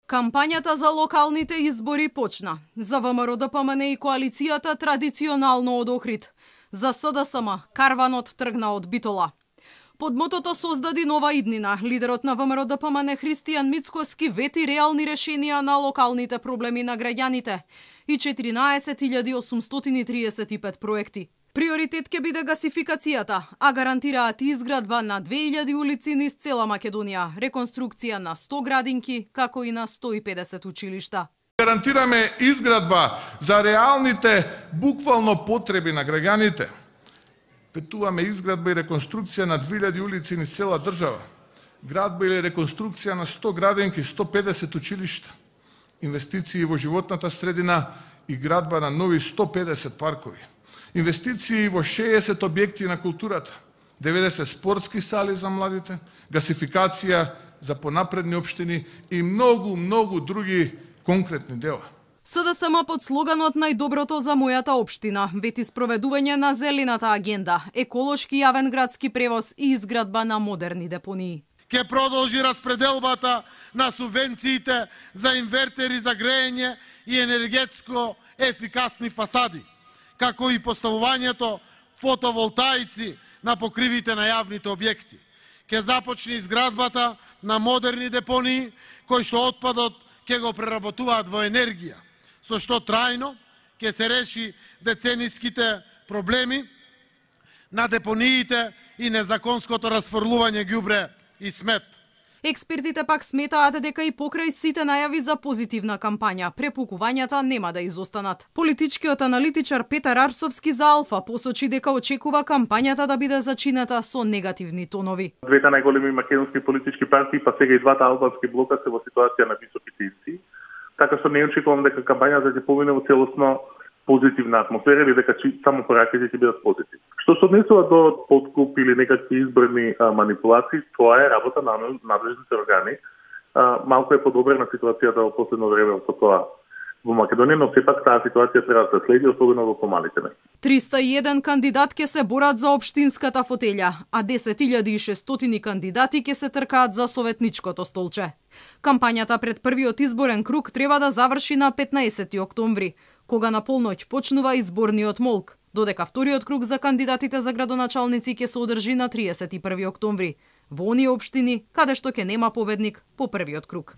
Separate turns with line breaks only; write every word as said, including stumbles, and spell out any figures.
Кампањата за локалните избори почна. За ВМРО-ДПМН и коалицијата традиционално од Охрид. За СДСМ карванот тргна од Битола. Под мотото "Создади нова иднина", лидерот на ВМРО-ДПМН Христијан Мицкоски вети реални решенија на локалните проблеми на граѓаните и четиринаесет илјади осумстотини и триесет и пет проекти. Приоритет ќе биде гасификацијата, а гарантираат изградба на две илјади улици низ цела Македонија, реконструкција на сто градинки, како и на сто и педесет училишта.
Гарантираме изградба за реалните, буквално потреби на граѓаните. Ветуваме изградба и реконструкција на две илјади улици низ цела држава, градба или реконструкција на сто градинки, сто и педесет училишта, инвестиции во животната средина и градба на нови сто и педесет паркови, инвестиции во шеесет објекти на културата, деветдесет спортски сали за младите, гасификација за понапредни општини и многу, многу други конкретни дела.
СДСМ под слоганот "Најдоброто за мојата општина" вети спроведување на зелената агенда, еколошки јавен градски превоз и изградба на модерни депонии.
Ке продолжи распределбата на субвенциите за инвертери за грејење и енергетско ефикасни фасади, како и поставувањето фотоволтаици на покривите на јавните објекти. Ке започне изградбата на модерни депонии кои што отпадот ке го преработуваат во енергија, со што трајно ќе се реши децениските проблеми на депониите и незаконското расфрлување ѓубре и смет.
Експертите пак сметаат дека и покрај сите најави за позитивна кампања, препукувањата нема да изостанат. Политичкиот аналитичар Петар Арсовски за Алфа посочи дека очекува кампањата да биде зачинета со негативни тонови.
Двете најголеми македонски политички партии, па сега и двата албански блока се во ситуација на високи тензии. Така што не очекувам дека кампањата ќе помине во целосно позитивна атмосфера или дека само пораките ќе бидат позитивни. Што се однесува до подкуп или некакви изборни а, манипулации, тоа е работа на надлежните органи. А, малку е подобрена ситуацијата во последно време во тоа во Македонија, но сепак таа ситуација треба да се следи, особено во помалите места.
триста и еден кандидат ќе се борат за општинската фотелја, а десет илјади и шестстотини кандидати ќе се тркаат за советничкото столче. Кампањата пред првиот изборен круг треба да заврши на петнаесети октомври, кога на полноќ почнува изборниот молк, додека вториот круг за кандидатите за градоначалници ќе се одржи на триесет и први октомври, во оние општини каде што ќе нема победник по првиот круг.